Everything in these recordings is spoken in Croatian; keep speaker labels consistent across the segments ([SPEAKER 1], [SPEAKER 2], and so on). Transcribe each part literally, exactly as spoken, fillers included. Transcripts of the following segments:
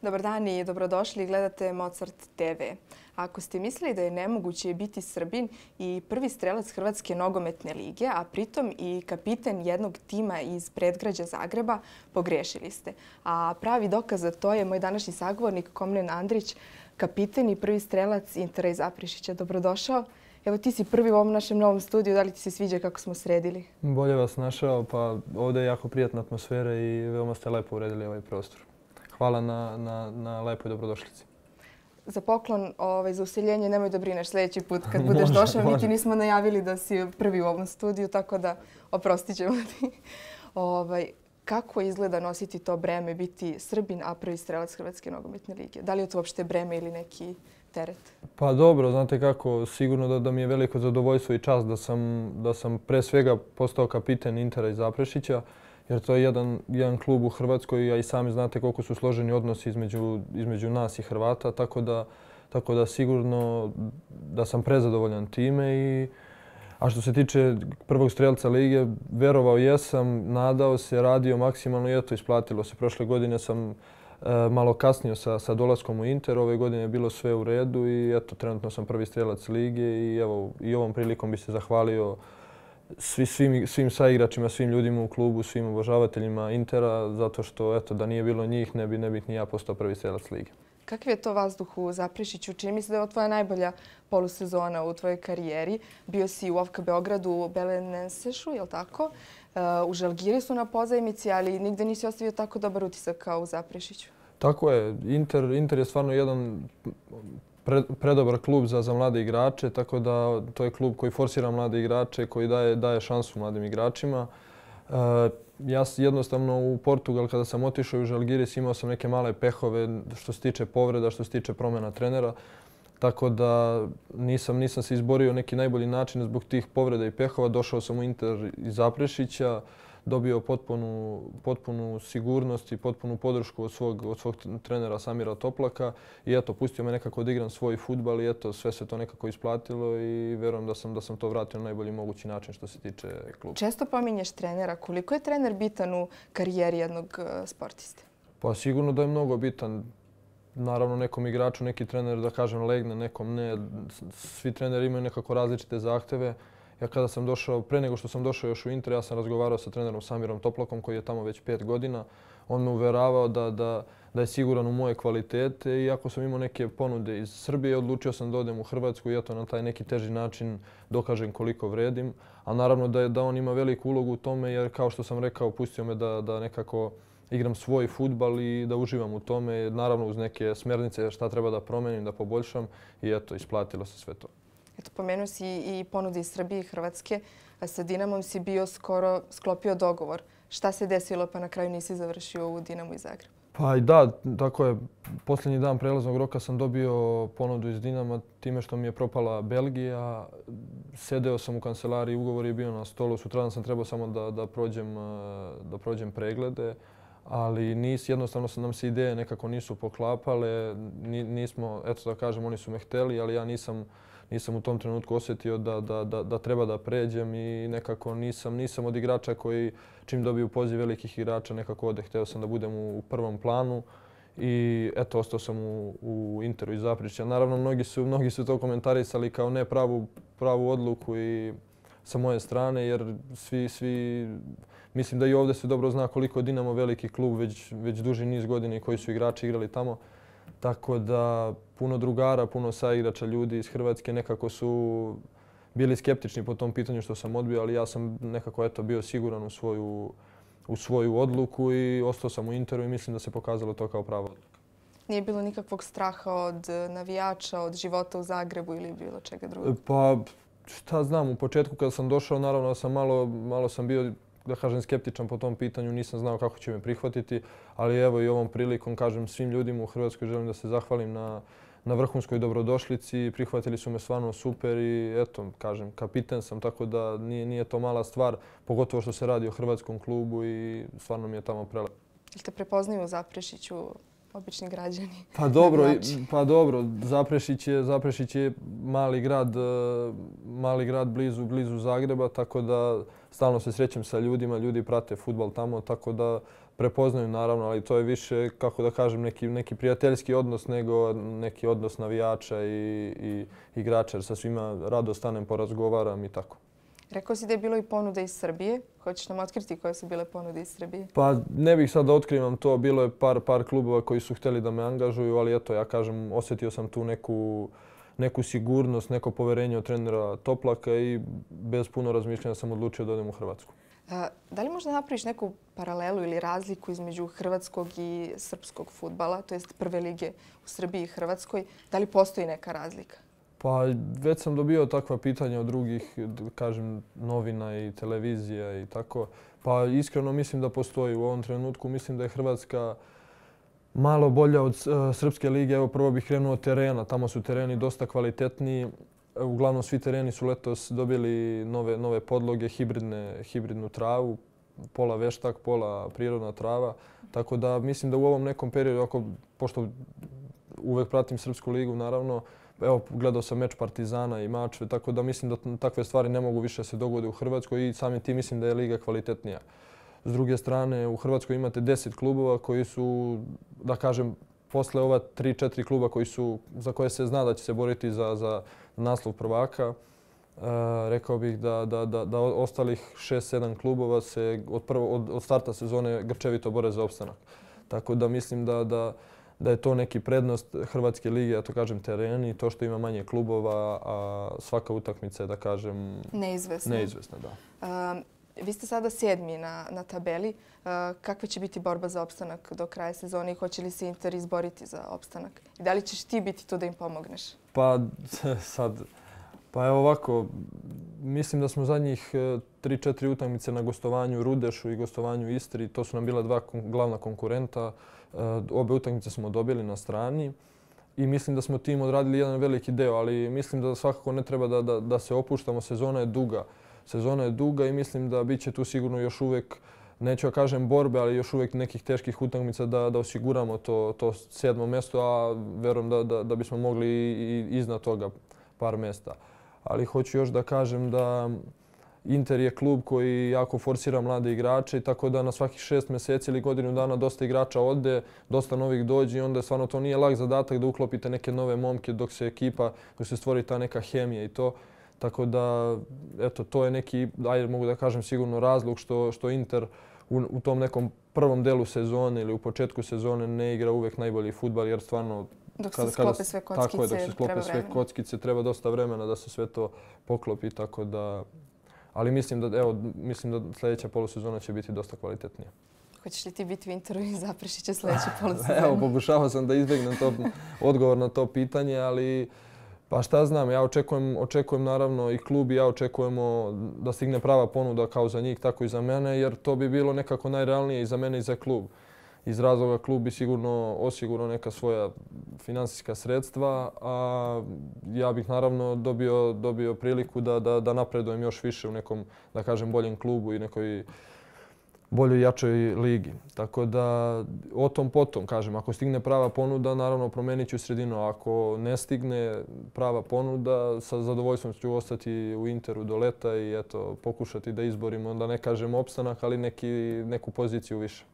[SPEAKER 1] Dobar dan i dobrodošli. Gledate Mozart te ve. Ako ste mislili da je nemoguće biti Srbin i prvi strelac Hrvatske nogometne lige, a pritom i kapiten jednog tima iz predgrađa Zagreba, pogrešili ste. A pravi dokaz za to je moj današnji sagovornik Komlen Andrić, kapiten i prvi strelac Intera iz Zaprešića. Dobrodošao. Evo, ti si prvi u ovom našem novom studiju. Da li ti se sviđa kako smo sredili?
[SPEAKER 2] Bolje vas našao. Pa ovdje je jako prijatna atmosfera i veoma ste lepo uredili ovaj prostor. Hvala na, na, na lepoj dobrodošlici.
[SPEAKER 1] Za poklon, ovaj, za useljenje nemoj da brineš sljedeći put kad budeš došao. Mi ti nismo najavili da si prvi u ovom studiju, tako da oprostit ćemo ti. Ovaj, kako izgleda nositi to breme, biti Srbin, a prvi strelac Hrvatske nogometne lige? Da li je to uopšte breme ili neki teret?
[SPEAKER 2] Pa dobro, znate kako, sigurno da, da mi je veliko zadovoljstvo i čast da sam, da sam pre svega postao kapiten Intera iz Zaprešića, jer to je jedan, jedan klub u Hrvatskoj, a i sami znate koliko su složeni odnosi između, između nas i Hrvata, tako da, tako da sigurno da sam prezadovoljan time. I, a što se tiče prvog strelca lige, verovao jesam, nadao se, radio maksimalno i eto, isplatilo se. Prošle godine sam e, malo kasnio sa, sa dolaskom u Inter, ove godine je bilo sve u redu i eto, trenutno sam prvi strelac lige i evo, i ovom prilikom bi se zahvalio Svi, svim, svim saigračima, svim ljudima u klubu, svim obožavateljima Intera, zato što eto, da nije bilo njih ne bi, ne bih ni ja postao prvi strelac lige.
[SPEAKER 1] Kakav je to vazduh u Zaprešiću? Čini mi se da je ovo tvoja najbolja polusezona u tvojoj karijeri. Bio si u O F K Beogradu u Belenensešu, je li tako? U Žalgirisu na pozajmici, ali nigde nisi ostavio tako dobar utisak kao u Zaprešiću.
[SPEAKER 2] Tako je. Inter, Inter je stvarno jedan predobar klub za, za mlade igrače, tako da to je klub koji forsira mlade igrače, koji daje, daje šansu mladim igračima. E, ja jednostavno u Portugal kada sam otišao u Žalgiris imao sam neke male pehove što se tiče povreda, što se tiče promjena trenera. Tako da nisam, nisam se izborio neki najbolji način zbog tih povreda i pehova. Došao sam u Inter iz Zaprešića, dobio potpunu, potpunu sigurnost i potpunu podršku od svog, od svog trenera Samira Toplaka i eto, pustio me nekako da igram svoj fudbal i eto, sve se to nekako isplatilo i verujem da sam, da sam to vratio na najbolji mogući način što se tiče kluba.
[SPEAKER 1] Često pominješ trenera. Koliko je trener bitan u karijeri jednog sportiste?
[SPEAKER 2] Pa sigurno da je mnogo bitan. Naravno, nekom igraču neki trener, da kažem, legne, nekom ne. Svi treneri imaju nekako različite zahteve. Ja kada sam došao, pre nego što sam došao još u Inter, ja sam razgovarao sa trenerom Samirom Toplakom koji je tamo već pet godina. On me uveravao da, da, da je siguran u moje kvalitete i ako sam imao neke ponude iz Srbije, odlučio sam da odem u Hrvatsku i eto na taj neki teži način dokažem koliko vredim. A naravno da, je, da on ima veliku ulogu u tome jer kao što sam rekao, pustio me da, da nekako igram svoj fudbal i da uživam u tome. Naravno uz neke smjernice šta treba da promenim, da poboljšam i eto, isplatilo se sve to.
[SPEAKER 1] Eto, pomenuo si i ponude iz Srbije i Hrvatske. A sa Dinamom si bio skoro sklopio dogovor. Šta se desilo pa na kraju nisi završio u Dinamu iz Zagreba?
[SPEAKER 2] Pa i da, tako je. Posljednji dan prelaznog roka sam dobio ponudu iz Dinama time što mi je propala Belgija. Sedeo sam u kancelariji, ugovor je bio na stolu. Sutradan sam trebao samo da, da, prođem, da prođem preglede. Ali nis, jednostavno nam se ideje nekako nisu poklapale. Nismo, eto da kažem, oni su me hteli, ali ja nisam Nisam u tom trenutku osjetio da, da, da, da treba da pređem i nekako nisam, nisam od igrača koji čim dobiju poziv velikih igrača nekako ode. Hteo sam da budem u, u prvom planu i eto, ostao sam u, u Interu iz Zaprešića. Naravno, mnogi su, mnogi su to komentarisali kao ne pravu, pravu odluku i sa moje strane jer svi, svi, mislim da i ovdje se dobro zna koliko je Dinamo veliki klub već, već duži niz godina i koji su igrači igrali tamo. Tako da puno drugara, puno saigrača ljudi iz Hrvatske nekako su bili skeptični po tom pitanju što sam odbio, ali ja sam nekako eto, bio siguran u svoju, u svoju odluku i ostao sam u Interu i mislim da se pokazalo to kao prava odluka.
[SPEAKER 1] Nije bilo nikakvog straha od navijača, od života u Zagrebu ili bilo čega drugog?
[SPEAKER 2] Pa šta znam, u početku kada sam došao, naravno da sam malo, malo sam bio da kažem skeptičan po tom pitanju, nisam znao kako će me prihvatiti, ali evo i ovom prilikom kažem svim ljudima u Hrvatskoj želim da se zahvalim na, na vrhunskoj dobrodošlici, prihvatili su me stvarno super i eto, kažem, kapiten sam, tako da nije, nije to mala stvar, pogotovo što se radi o hrvatskom klubu i stvarno mi je tamo prelepo.
[SPEAKER 1] Jel te prepoznaju u Zaprešiću obični građani.
[SPEAKER 2] Pa dobro, pa dobro. Zaprešić je, Zaprešić je mali grad, mali grad blizu, blizu Zagreba, tako da stalno se srećem sa ljudima, ljudi prate fudbal tamo, tako da prepoznaju naravno, ali to je više, kako da kažem, neki, neki prijateljski odnos nego neki odnos navijača i, i igrača, jer sa svima rado stanem, porazgovaram i tako.
[SPEAKER 1] Rekao si da je bilo i ponude iz Srbije. Hoćeš nam otkriti koje su bile ponude iz Srbije?
[SPEAKER 2] Pa ne bih sad da otkrivam to. Bilo je par, par klubova koji su htjeli da me angažuju, ali eto, ja kažem, osjetio sam tu neku, neku sigurnost, neko poverenje od trenera Toplaka i bez puno razmišljanja sam odlučio da odem u Hrvatsku.
[SPEAKER 1] A, da li možda napraviš neku paralelu ili razliku između hrvatskog i srpskog fudbala, to jest prve lige u Srbiji i Hrvatskoj? Da li postoji neka razlika?
[SPEAKER 2] Pa već sam dobio takva pitanja od drugih, kažem, novina i televizija i tako. Pa iskreno mislim da postoji u ovom trenutku. Mislim da je Hrvatska malo bolja od Srpske lige. Evo prvo bih krenuo od terena. Tamo su tereni dosta kvalitetniji. Uglavnom svi tereni su letos dobili nove, nove podloge, hibridne, hibridnu travu. Pola veštak, pola prirodna trava. Tako da mislim da u ovom nekom periodu, ako, pošto uvek pratim Srpsku ligu, naravno, evo, gledao sam meč Partizana i Mačve, tako da mislim da takve stvari ne mogu više se dogode u Hrvatskoj i samim tim mislim da je liga kvalitetnija. S druge strane, u Hrvatskoj imate deset klubova koji su, da kažem, posle ova tri četiri kluba koji su, za koje se zna da će se boriti za, za naslov prvaka, e, rekao bih da, da, da, da ostalih šest sedam klubova se od, prvo, od, od starta sezone grčevito bore za opstanak. Tako da mislim da, da da je to neki prednost Hrvatske lige, ja to kažem teren i to što ima manje klubova, a svaka utakmica je, da kažem,
[SPEAKER 1] neizvesna.
[SPEAKER 2] Neizvesna, da.
[SPEAKER 1] Uh, vi ste sada sedmi na, na tabeli. Uh, kakva će biti borba za opstanak do kraja sezone i hoće li se Inter izboriti za opstanak? I da li ćeš ti biti tu da im pomogneš?
[SPEAKER 2] Pa sad, pa evo ovako, mislim da smo zadnjih tri četiri utakmice na gostovanju Rudešu i gostovanju Istri. To su nam bila dva glavna konkurenta. Obe utakmice smo dobili na strani i mislim da smo tim odradili jedan veliki deo, ali mislim da svakako ne treba da, da, da se opuštamo. Sezona je duga. Sezona je duga i mislim da bit će tu sigurno još uvijek, neću ja kažem borbe, ali još uvijek nekih teških utakmica da, da osiguramo to, to sedmo mjesto, a verujem da, da, da bismo mogli i iznad toga par mjesta. Ali hoću još da kažem da Inter je klub koji jako forsira mlade igrače, tako da na svakih šest mjeseci ili godinu dana dosta igrača ode, dosta novih dođe i onda stvarno to nije lak zadatak da uklopite neke nove momke dok se ekipa, dok se stvori ta neka hemija i to. Tako da, eto, to je neki, ajde mogu da kažem sigurno razlog što, što Inter u, u tom nekom prvom delu sezone ili u početku sezone ne igra uvijek najbolji fudbal jer stvarno
[SPEAKER 1] Dok se sklope sve kockice,
[SPEAKER 2] tako je, dok se sklope sve kockice, treba dosta vremena da se sve to poklopi, tako da... Ali mislim da, evo, mislim da sljedeća polusezona će biti dosta kvalitetnija.
[SPEAKER 1] Hoćeš li ti biti u Interu i Zaprešića sljedeće polusezone?
[SPEAKER 2] Evo, pokušavao sam da izbjegnem to, odgovor na to pitanje, ali pa šta znam, ja očekujem, očekujem naravno i klub i ja očekujemo da stigne prava ponuda kao za njih, tako i za mene, jer to bi bilo nekako najrealnije i za mene i za klub. Iz razloga klub bi sigurno osigurao neka svoja finansijska sredstva, a ja bih naravno dobio, dobio priliku da, da, da napredujem još više u nekom, da kažem, boljem klubu i nekoj boljoj jačoj ligi. Tako da o tom potom, kažem, ako stigne prava ponuda, naravno promenit ću sredinu. Ako ne stigne prava ponuda, sa zadovoljstvom ću ostati u Interu do leta i eto, pokušati da izborimo, da ne kažem opstanak, ali neki, neku poziciju više.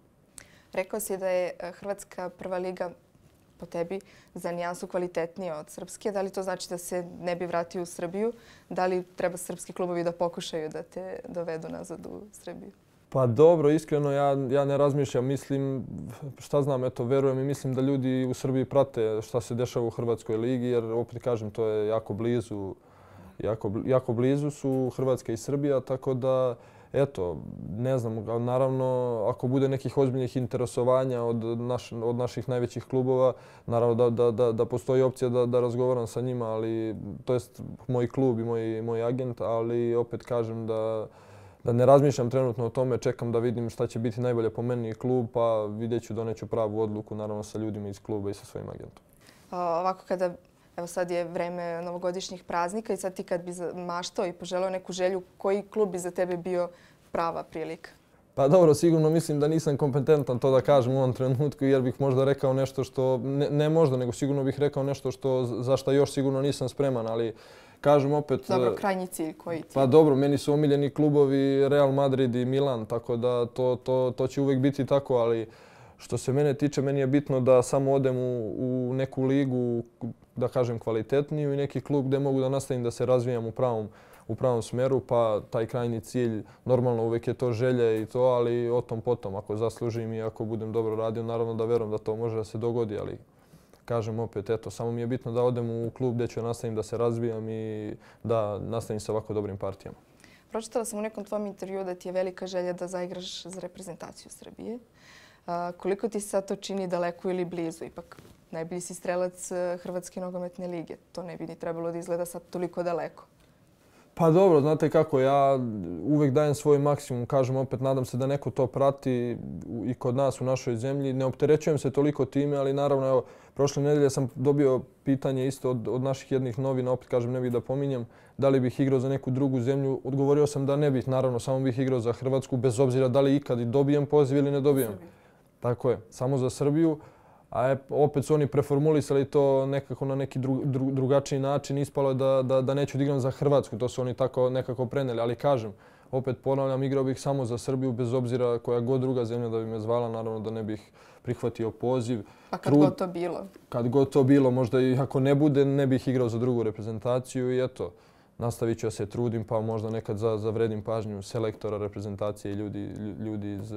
[SPEAKER 1] Rekao si da je Hrvatska prva liga po tebi za nijansu kvalitetnija od srpske. Da li to znači da se ne bi vratio u Srbiju? Da li treba srpski klubovi da pokušaju da te dovedu nazad u Srbiju?
[SPEAKER 2] Pa dobro, iskreno ja, ja ne razmišljam. Mislim, šta znam, eto, verujem i mislim da ljudi u Srbiji prate šta se dešava u Hrvatskoj ligi, jer opet kažem, to je jako blizu, jako, jako blizu su Hrvatska i Srbija, tako da eto, ne znam, naravno, ako bude nekih ozbiljnih interesovanja od, naš, od naših najvećih klubova, naravno da, da, da, da postoji opcija da, da razgovaram sa njima, ali to jest moj klub i moj, moj agent, ali opet kažem da, da ne razmišljam trenutno o tome, čekam da vidim šta će biti najbolje po meni klub, pa vidjet ću, doneću pravu odluku, naravno sa ljudima iz kluba i sa svojim agentom.
[SPEAKER 1] Ovako kada... Evo sad je vreme novogodišnjih praznika i sad ti kad bi maštao i poželeo neku želju, koji klub bi za tebe bio prava prilika?
[SPEAKER 2] Pa dobro, sigurno mislim da nisam kompetentan to da kažem u ovom trenutku jer bih možda rekao nešto što, ne, ne možda, nego sigurno bih rekao nešto što, za što još sigurno nisam spreman, ali kažem opet...
[SPEAKER 1] Dobro, krajnji cilj, koji cilj?
[SPEAKER 2] Pa dobro, meni su omiljeni klubovi Real Madrid i Milan, tako da to, to, to će uvijek biti tako, ali što se mene tiče, meni je bitno da samo odem u, u neku ligu, da kažem kvalitetniju i neki klub gdje mogu da nastavim da se razvijam u pravom u pravom smjeru, pa taj krajnji cilj, normalno uvijek je to želje i to, ali o tom potom. Ako zaslužim i ako budem dobro radio, naravno da verujem da to može da se dogodi, ali kažem opet, eto, samo mi je bitno da odem u klub gdje ću nastavim da se razvijam i da nastavim sa ovako dobrim partijama.
[SPEAKER 1] Pročitala sam u nekom tvom intervju da ti je velika želja da zaigraš za reprezentaciju Srbije. A, koliko ti se sad to čini daleko ili blizu? Ipak najbolji si strelac Hrvatske nogometne lige. To ne bi ni trebalo da izgleda sad toliko daleko.
[SPEAKER 2] Pa dobro, znate kako, ja uvijek dajem svoj maksimum, kažem opet, nadam se da neko to prati i kod nas u našoj zemlji. Ne opterećujem se toliko time, ali naravno, evo, prošle nedelje sam dobio pitanje isto od, od naših jednih novina, opet kažem, ne bih da pominjem, da li bih igrao za neku drugu zemlju. Odgovorio sam da ne bih, naravno, samo bih igrao za Hrvatsku, bez obzira da li ikad i dobijem poziv ili ne dobijem. Srbiju. Tako je, samo za Srbiju. A opet su oni preformulisali to nekako na neki dru, dru, drugačiji način. Ispalo je da, da, da neću da igram za Hrvatsku. To su oni tako nekako preneli. Ali kažem, opet ponavljam, igrao bih samo za Srbiju, bez obzira koja god druga zemlja da bi me zvala. Naravno da ne bih prihvatio poziv.
[SPEAKER 1] Pa kad Trud, god to bilo?
[SPEAKER 2] Kad god to bilo, možda i ako ne bude, ne bih igrao za drugu reprezentaciju i eto. Nastavit ću da se trudim, pa možda nekad za, zavredim pažnju selektora, reprezentacije i ljudi, ljudi iz,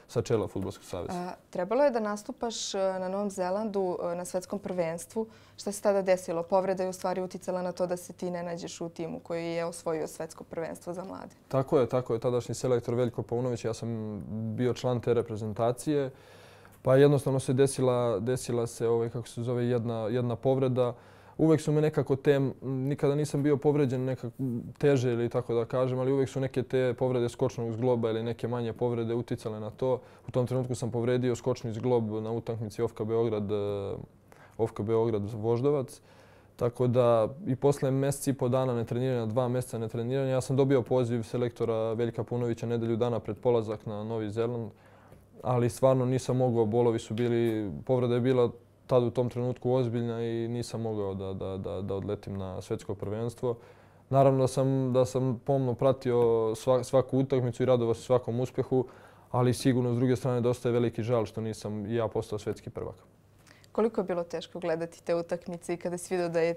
[SPEAKER 2] sa čela Fudbalskog saveza.
[SPEAKER 1] A, trebalo je da nastupaš na Novom Zelandu na svetskom prvenstvu. Šta se tada desilo? Povreda je u stvari uticala na to da se ti ne nađeš u timu koji je osvojio svetsko prvenstvo za mlade.
[SPEAKER 2] Tako je, tako je. Tadašnji selektor Veljko Paunović, ja sam bio član te reprezentacije. Pa jednostavno se desila, desila se, ovaj, kako se zove, jedna, jedna povreda. Uvijek su me nekako te, nikada nisam bio povređen nekako teže ili tako da kažem, ali uvijek su neke te povrede skočnog zgloba ili neke manje povrede uticale na to. U tom trenutku sam povredio skočni zglob na utakmici O F K Beograd, O F K Beograd Voždovac. Tako da i posle mjeseci i po dana netreniranja, dva mjeseca netreniranja, ja sam dobio poziv selektora Veljka Paunovića nedelju dana pred polazak na Novi Zeland, ali stvarno nisam mogao, bolovi su bili, povreda je bila tad u tom trenutku ozbiljna i nisam mogao da, da, da, da odletim na svetsko prvenstvo. Naravno da sam, da sam pomno pratio svak, svaku utakmicu i radovao se svakom uspjehu, ali sigurno s druge strane dosta je veliki žal što nisam i ja postao svetski prvak.
[SPEAKER 1] Koliko je bilo teško gledati te utakmice i kada si vidio da je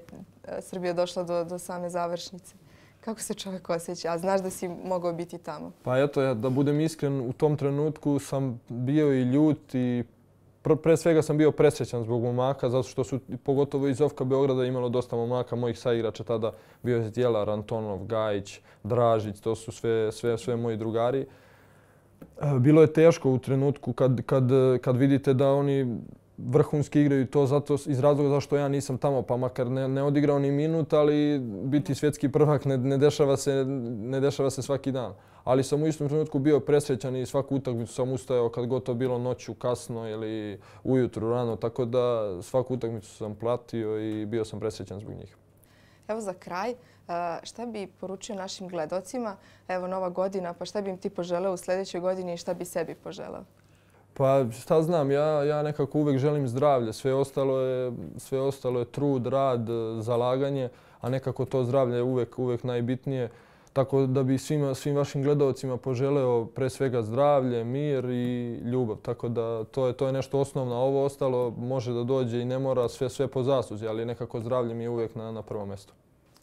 [SPEAKER 1] Srbija došla do, do same završnice? Kako se čovjek osjeća? A znaš da si mogao biti tamo? Pa
[SPEAKER 2] eto, ja, da budem iskren, u tom trenutku sam bio i ljut i pre svega sam bio presrećan zbog momaka, zato što su pogotovo iz O F K Beograda imalo dosta momaka, mojih saigrača tada bio je Zdjelar, Antonov, Gajić, Dražić, to su sve, sve, sve moji drugari. Bilo je teško u trenutku kad, kad, kad vidite da oni vrhunski igraju to zato, iz razloga zašto ja nisam tamo, pa makar ne, ne odigrao ni minut, ali biti svjetski prvak ne, ne, dešava se, ne dešava se svaki dan. Ali sam u istom trenutku bio presrećan i svaku utakmicu sam ustajao kad god to bilo noću, kasno ili ujutru, rano, tako da svaku utakmicu sam platio i bio sam presrećan zbog njih.
[SPEAKER 1] Evo za kraj, šta bi poručio našim gledocima? Evo nova godina, pa šta bi im ti poželeo u sljedećoj godini i šta bi sebi poželeo?
[SPEAKER 2] Pa šta znam, ja, ja nekako uvijek želim zdravlje. Sve ostalo je, sve ostalo je trud, rad, zalaganje, a nekako to zdravlje je uvijek, uvijek najbitnije. Tako da bi svima, svim vašim gledalcima poželeo pre svega zdravlje, mir i ljubav. Tako da to je, to je nešto osnovno. Ovo ostalo može da dođe i ne mora, sve, sve po zasluzi, ali nekako zdravlje mi je uvijek na, na prvom mjestu.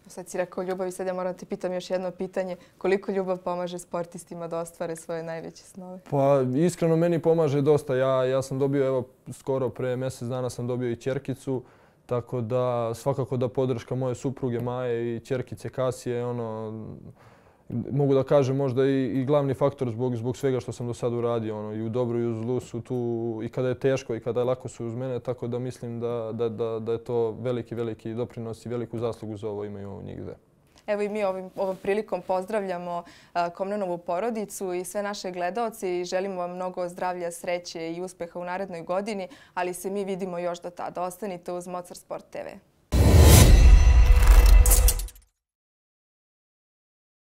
[SPEAKER 1] Sad si rekao ljubav i sad ja moram te pitam još jedno pitanje. Koliko ljubav pomaže sportistima da ostvare svoje najveće snove?
[SPEAKER 2] Pa iskreno meni pomaže dosta. Ja, ja sam dobio, evo skoro pre mjesec dana sam dobio i ćerkicu. Tako da svakako da podrška moje supruge Maje i ćerkice Kasije, ono, mogu da kažem možda i, i glavni faktor zbog, zbog svega što sam do sada uradio. Ono, i u dobru i u zlu su tu i kada je teško i kada je lako su uz mene. Tako da mislim da, da, da, da je to veliki, veliki doprinos i veliku zaslugu za ovo imaju njih dve.
[SPEAKER 1] Evo i mi ovim, ovom prilikom pozdravljamo Komnenovu porodicu i sve naše gledaoce i želimo vam mnogo zdravlja, sreće i uspeha u narednoj godini, ali se mi vidimo još do tada. Ostanite uz Mozart Sport T V.